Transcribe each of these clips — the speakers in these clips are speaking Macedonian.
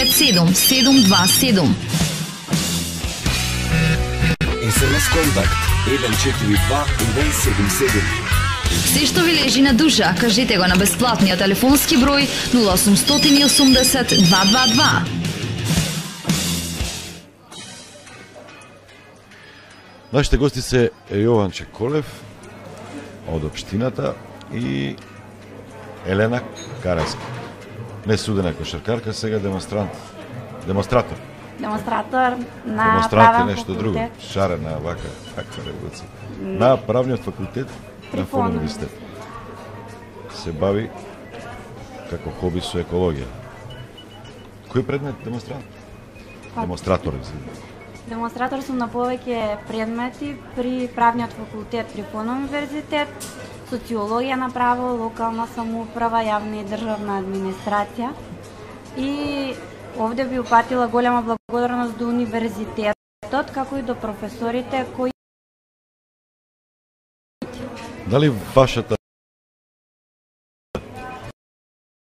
727. СМС контакт 142-177. Се што ви лежи на душа, кажете го на бесплатниот телефонски број 0880 222. Нашите гости се Јован Чеколев од општината и Елена Караска. Не судена кошаркарка, сега демонстратор. Демонстратор на Демонстрант е нешто друго. Шарена вака револуција. На правниот факултет на Фон универзитет. Се бави како хоби со екологија. Кој предмет демонстрант? Демонстратор, Демонстратор сум на повеќе предмети при правниот факултет при Фон универзитет, социологија на право, локална самоуправа, јавна и државна администрација. И овде би упатила голема благодарност до универзитетот, како и до професорите кои... Дали вашата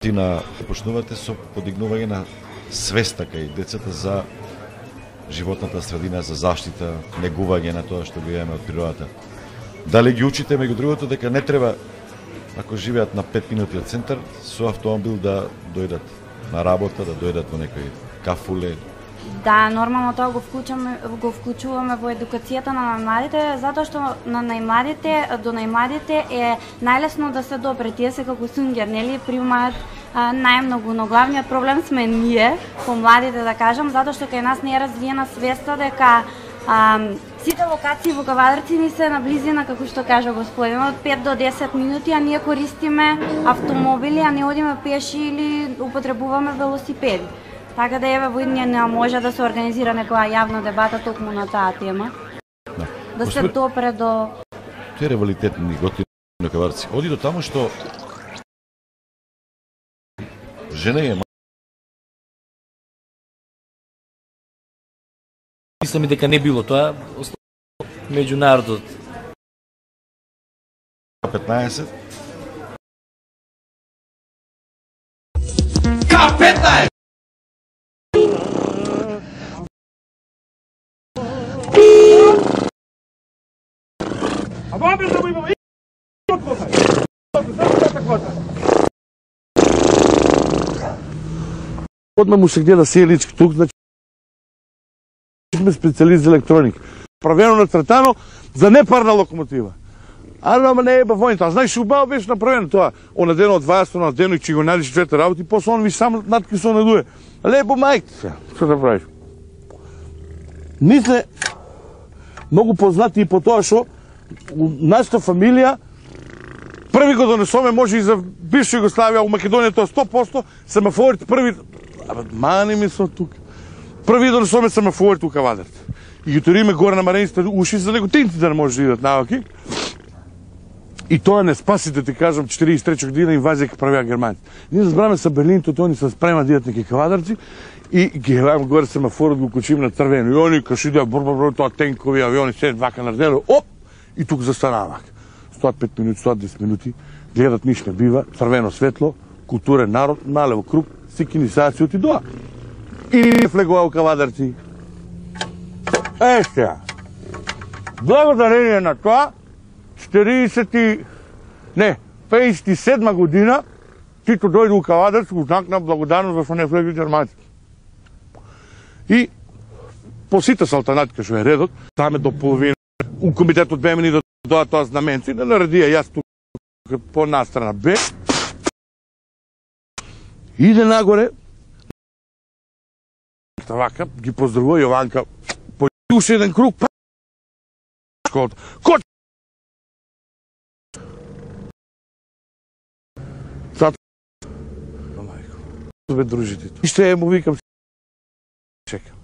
на почнувате со подигнување на свеста кај децата за животната средина, за заштита, негување на тоа што го имаме од природата? Дали ги учите меѓу другото дека не треба, ако живеат на 5 минути од центар, со автомобил да дојдат на работа, да дојдат во некој кафуле? Да, нормално тоа го вклучуваме во едукацијата на најмладите, затоа што до најмладите е најлесно да се допре. Тие се како сунгер, нели, примаат најмногу, но главниот проблем сме ние, помладите да кажам, затоа што кај нас не е развиена свеста дека сите локации во Кавадарци ни се наблизина, како што кажа господинот, 5 до 10 минути, а ние користиме автомобили, а не одиме пеши или употребуваме велосипеди. Така да еве во иднина не може да се организира некоја јавна дебата токму на таа тема. Да се допре до... Тој ревалитетни готини на Кавадарци оди до таму што жена е... Мислам и дека не било тоа, меѓу народот. 15. К15! Одма му се гледа селички тук, значи сме специалист за електроника. Правено нацртано за непарна локомотива. Ама не е бавоњето. А знаеш, убаво беше направено тоа. Она дено од 20 на дено и че го најдеш двете работи, после он ви сам натки со надуе. Лепо мајките се. Што да правиш? Мисле, многу познати и по тоа што нашата фамилија први го донесоме, може и за бивша Југославија, у Македонија тоа 100%, семафорите први... Абе, мани ми со тука. Први донесоме семафорите у Кавадарци. И ги ториме горе на марениците уши за неготинци да не може да идат наваки. И тоа не спаси, да ти кажам, 43 година инвазија ке правија германци. Ние збраме са Берлинто, они се спрема да идат неки Кавадарци и ги гледам горе семафорот, го кучим на црвено. И они каш идеа бр, тоа тенкови авиони, седат вака на дело, оп! И тук застанавак. 105 минути, 110 минути, гледат ниш не бива, црвено светло, културен народ, налево круг, сикинисација и доа. И влегува у Кавадарци. Сега. Благодарение на тоа, 57 година, Тито дојде у Кавадарци, у знак на благодарност зашто не влегли германци. И по сите салтанати што е редот, таме до половина, у комитетот беме ни да доа тоа знаменци, да наредија јас тук по настрана Б. Иде нагоре, вака, ги поздравува Јованка, по уште еден круг, школата. Кој? Зато, бе дружите. И ще му викам, чекам.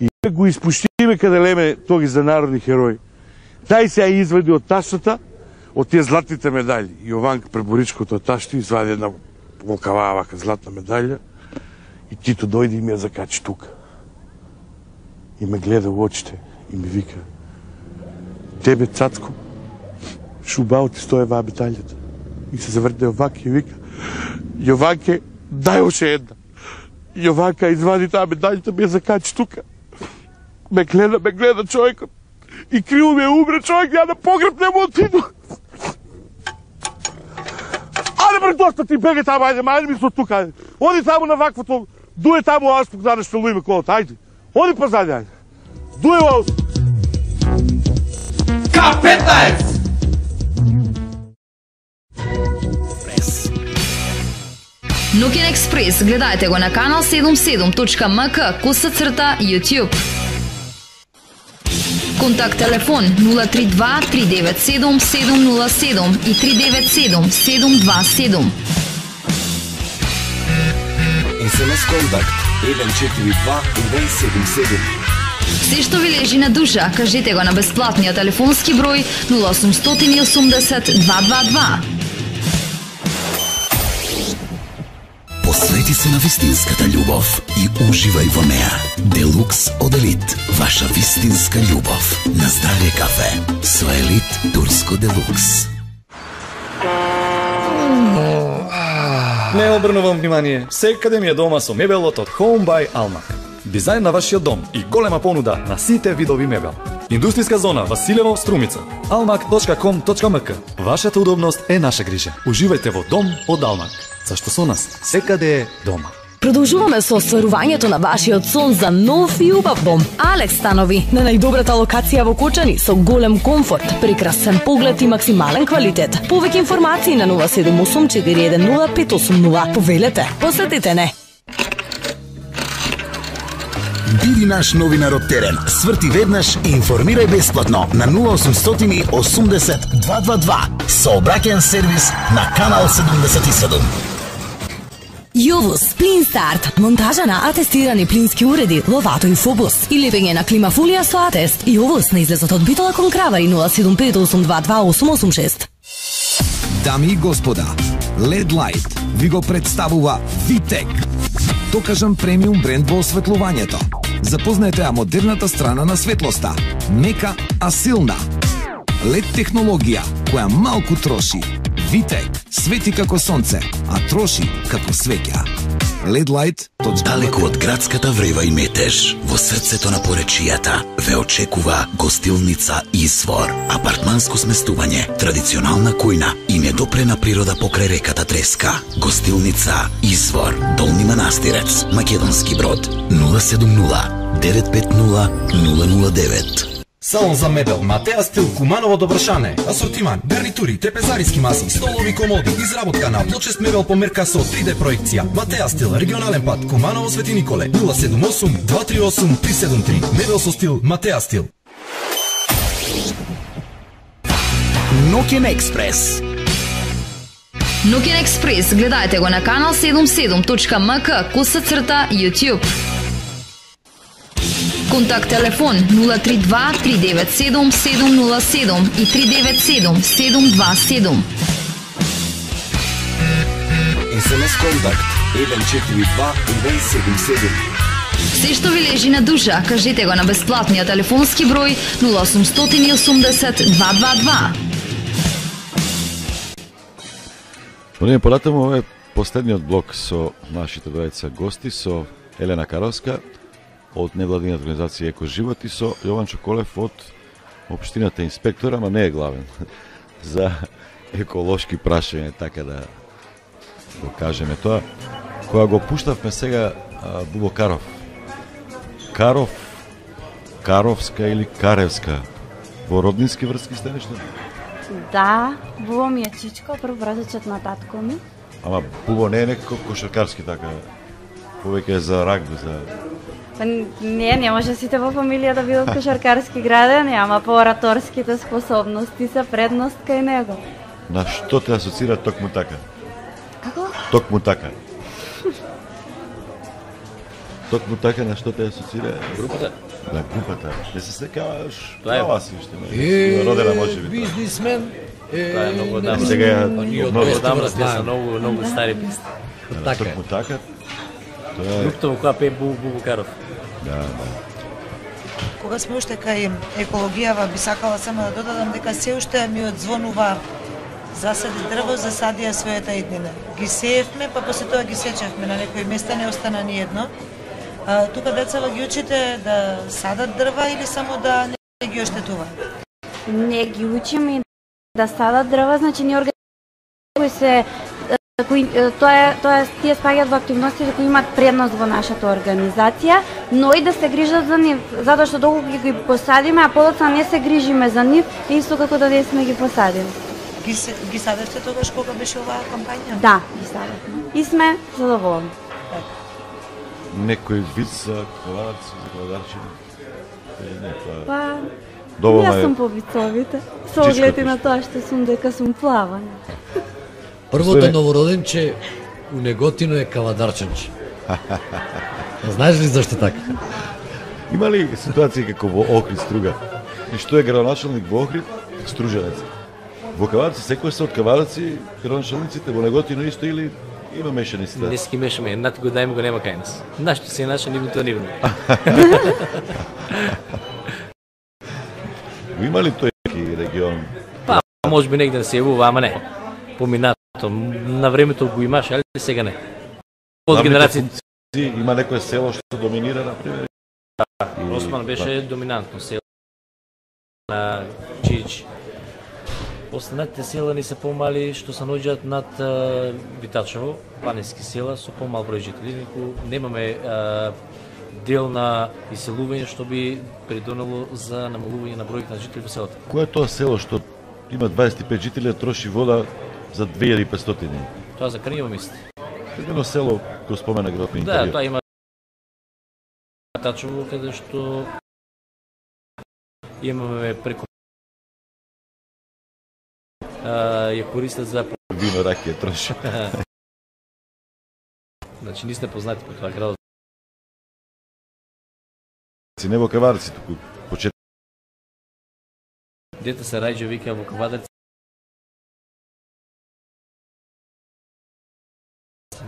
И го испуштиме каде леме тоги за народни херои. Тај се ја извади од таштата, од тие златните медали. Јованка преборичкото од ташти извади една волкаваа вака златна медалја и Тито дојде и ми ја закачи тука. И ме гледа во очите и ми вика: тебе, цацко, шубао ти стоја ваа медалјата. И се заврте Јованке и вика: Јованке, дај още една. И овака извади таа медаљата, ме закачи тука. Ме гледа човекот. И криво ме умре човек, ја на погреб не му отиду. Ајде бре, доста ти бегај таму, ајде ми со тука, ајде. Оди таму на ваквото, дуе таму аспук, да нешто луиме колото, ајде. Оди позади, ајде. Дуе во аспук. К15! Ноќен експрес гледајте го на канал 77.mk /YouTube. Контакт телефон 032 397 707 и 397 727. СМС контакт 142 277. Се што ви лежи на душа, кажете го на бесплатниот телефонски број 0880 222. Посвети се на вистинската љубов и уживај во неа. Делукс од Елит, ваша вистинска љубов. На здравје кафе со Елит Турско Делукс. Не обрнувам внимание, секаде ми е дома со мебелот од Home by Almak. Дизајн на вашиот дом и голема понуда на сите видови мебел. Индустријска зона Василево, Струмица. almak.com.mk. Вашата удобност е наша грижа. Уживајте во дом од Almak. Зашто со нас секаде е дома. Продолжуваме со остварувањето на вашиот сон за нов и убав дом. Алекс станови на најдобрата локација во Кочани со голем комфорт, прекрасен поглед и максимален квалитет. Повеќе информации на 078 410 580. Повелете, посетете не. Биди наш новинар од терен. Сврти веднаш и информирај бесплатно на 0800 80 222. Сообраќаен сервис на канал 77. Јовус, Плин Старт, монтажа на атестирани плински уреди, ловато и фобус и лепење на климафолија со атест. Јовус на излезот од Битола кон Кравари 075 822 886. Дами и господа, LED Light ви го представува Витек. Докажан премиум бренд во осветлувањето. Запознаете ја модерната страна на светлоста. Мека, а силна. LED технологија која малку троши. Витек свети како сонце, а троши како свеќа. LED Light. Далеку од градската врева и метеж, во срцето на поречијата, ве очекува гостилница Извор. Апартманско сместување, традиционална кујна и недопрена природа покрај реката Треска. Гостилница Извор, Долни Манастирец, Македонски Брод, 070 950 009. Салон за мебел Матеа Стил, Куманово до Вршане. Асортиман, гарнитури, трапезариски маси, столови, комоди, изработка на плочест мебел по мерка со 3D проекција. Матеа Стил, регионален пат, Куманово Свети Николе, 078 238 373. Мебел со стил, Матеа Стил. Ноќен експрес. Ноќен експрес гледајте го на канал 77.mk /YouTube. Контакт телефон 032 397 707 и 397 727. СМС контакт 142 277. Се што ви лежи на душа, кажете го на бесплатниот телефонски број 0880 222. Понеме понатаму, ова е последниот блок со нашите двајца гости, со Елена Карловска од невладината организација Еко Живот и со Јован Чоколев од општината инспектор, ама не е главен, за еколошки прашање, така да го кажеме тоа. Кога го пуштавме сега Бубо Каров. Каровска или Каревска, во роднински врски сте нешто? Да, Бубо ми е чичко, прв братечот на татко ми. Ама Бубо не е некако кошаркарски така, повеќе е за рагби, за... Па не може сите во фамилија да бидат кошаркарски градени, ама по ораторските способности се предност кај него. На што те асоцира токму така? Како? Токму така. Токму така на што те асоцира? Групата? На групата. Не се секаваш, Тоа е вас уште. Родена може би. Бизнисмен. Тоа е многу одамна. Сега Ние од одамна сме многу стари песни. Токму така. Групата во која пее Бубо Каров. Да. Кога сме уште кај екологијава, би сакала само да додадам дека се уште ми одзвонува засади дрво, засадија својата иднина. Ги сеевме, па после тоа ги сечевме, на некои места не остана ни едно. Тука децава ги учите да садат дрва или само да не ги оштетуваат? Не ги учиме да садат дрва, значи ни кои се тие спаѓаат во активностите кои имаат предност во нашата организација, но и да се грижат за нив, затоа што доколку ги посадиме, а подоцна не се грижиме за нив, исто како да не сме ги посадили. Ги садевте тогаш кога беше оваа кампања? Да, ги садевме. И сме задоволни. Некој вид за кавадарци, за кавадарчини? Не, тоа... Па, доволно јас сум по вицовите, со оглед на тоа што сум дека сум плавана. Првото новороденче у Неготино е кавадарченче. Знаеш ли зашто така? Има ли ситуација како во Охрид Струга? И што е градоначалник во Охрид? Струженец. Во Каварци секој се од Каварци, градоначалниците во Неготино исто или има мешани ситуации? Не ски мешаме, едната го дајме го нема кај нас. Нашто се наша, нивното нивно. Има ли тој регион? Па, може би негде да се јавува, ама не. Поминато, на времето го имаш, али сега не. Од генерација има некое село што доминира, например? Осман беше доминантно село на Чич. Останатите села ни се помали што се наоѓаат над Витачево, планински села со помал број жители. Немаме дел на иселување што би придонело за намалување на бројот на жители во селото. Кој е тоа село што има 25 жители, троши вода за 2500? Тоа за Крњево мисли. Едно село го спомена градот на интервју. Да, тоа има Тачево каде што имаме преку ја користат за вино, ракија, троши. Значи не сте познати по тоа градот. Не во Каварци, туку почет. Дете се раѓа вика во Каварци.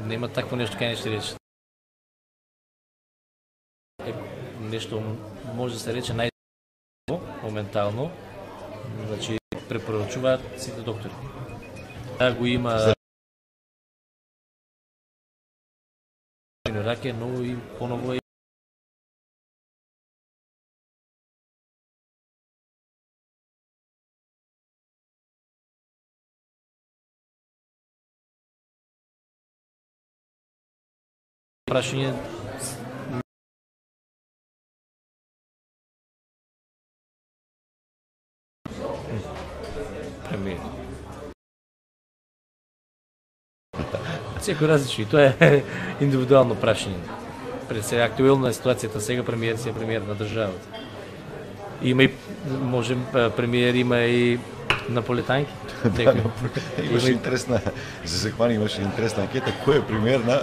Нема такво нешто кај нешто рече. Нешто може да се рече моментално. Значи препорачуваат сите доктори. Да го има раке, но и поново е прашање премиер. Секој различни, тоа е индивидуално прашање. Пред се актуелна ситуацијата сега премиер си е премиер на државата. Има и може премиер има и наполетанки. Имаше интересна, за Секвани имаше интересна анкета кој е премиер на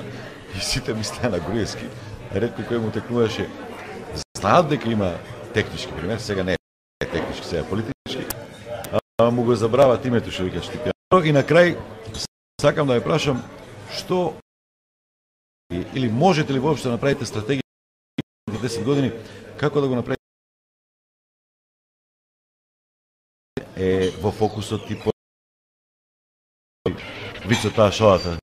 и сите мислеа на Груевски. Ретко кој му текнуваше. Знаат дека има технички премиер, сега не е технички, сега е политички. Му го забрават името што вика Штипјан. И на крај сакам да ја прашам што или можете ли воопшто да направите стратегија за 10 години како да го направите во фокусот типо вицо таа шоата.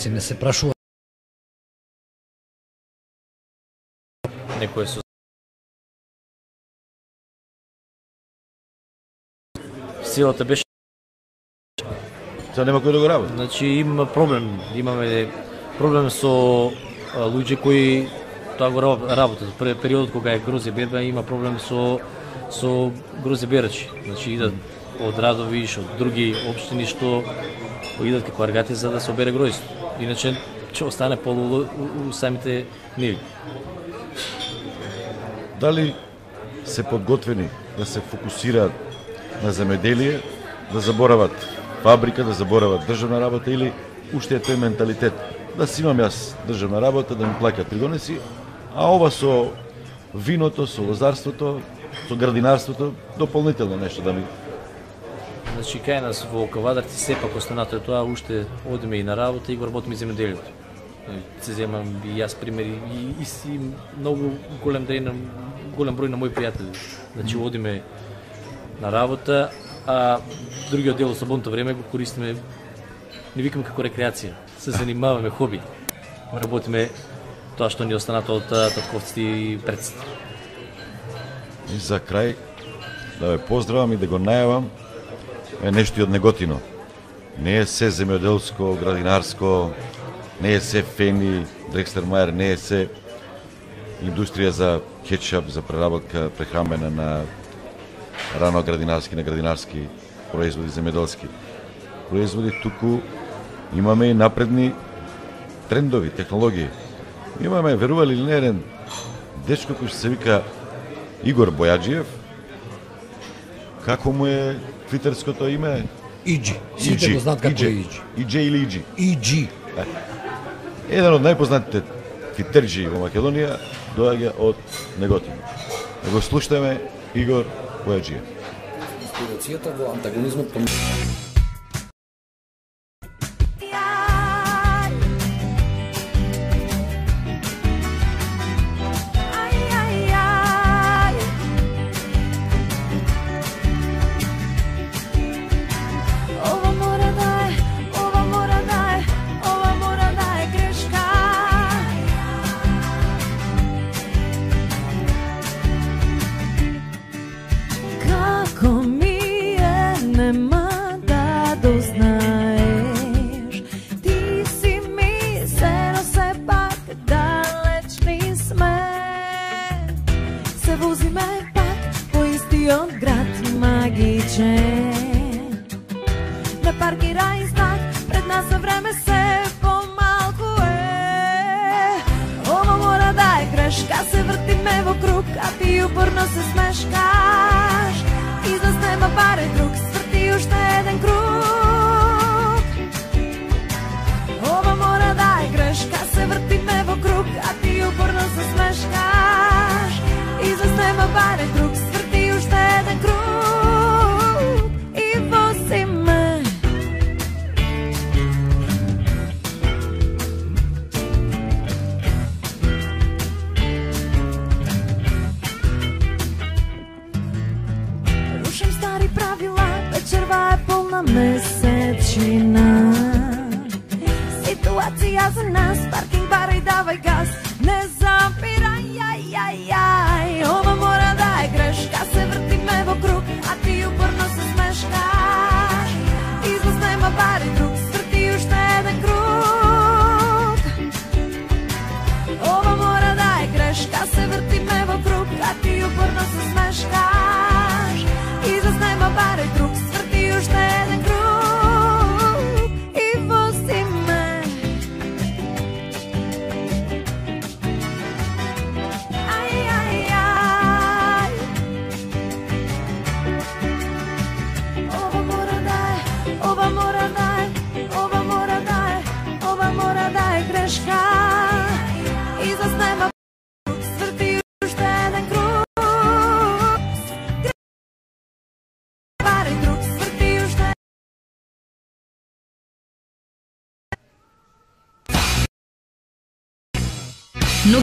Не се прашува некој со силата беше Тоа нема кој да го работи. Значи има проблем, имаме проблем со луѓе кои тоа го работат. Пред периодот кога е грозе берба има проблем со грозе берачи. Значи идат од радови и од други општини што идат како аргати за да се обере гроздето. Иначе ќе остане полу у самите ниви. Дали се подготвени да се фокусираат на земеделие, да заборават фабрика, да заборават државна работа или уште е тој менталитет да си имам јас државна работа, да ми плаќаат придонеси, а ова со виното, со лозарството, со градинарството, дополнително нешто да ми... Значи кај нас во Кавадарци сепак останато е тоа, уште одиме и на работа и го работиме земеделието. Се земам и јас примери и си многу голем број на мои пријатели. Значи одиме на работа, а другиот дел од слободното време го користиме, не викам како рекреација, се занимаваме хоби. Работиме тоа што ни останато од татковците и предците. И за крај, да ве поздравам и да го најавам нешто од Неготино. Не е се земјоделско, градинарско, не е се фени, Дрекслер-Мајер, не е се индустрија за кетчап, за преработка прехрамбена на рано градинарски, на градинарски производи, земјоделски производи, туку имаме и напредни трендови, технологии. Имаме, верували или не, еден дечко кој се вика Игор Бојаджиев. Како му е твитерското име? Иджи. Сите го знаат како е Иджи. Иджи или Иджи? Иджи. Еден од најпознатите твитерџи во Македонија доаѓа од Неготино. Да го слушаме Игор Бојаджиев. Инспирацијата во антагонизмот по Месечина, ситуација за нас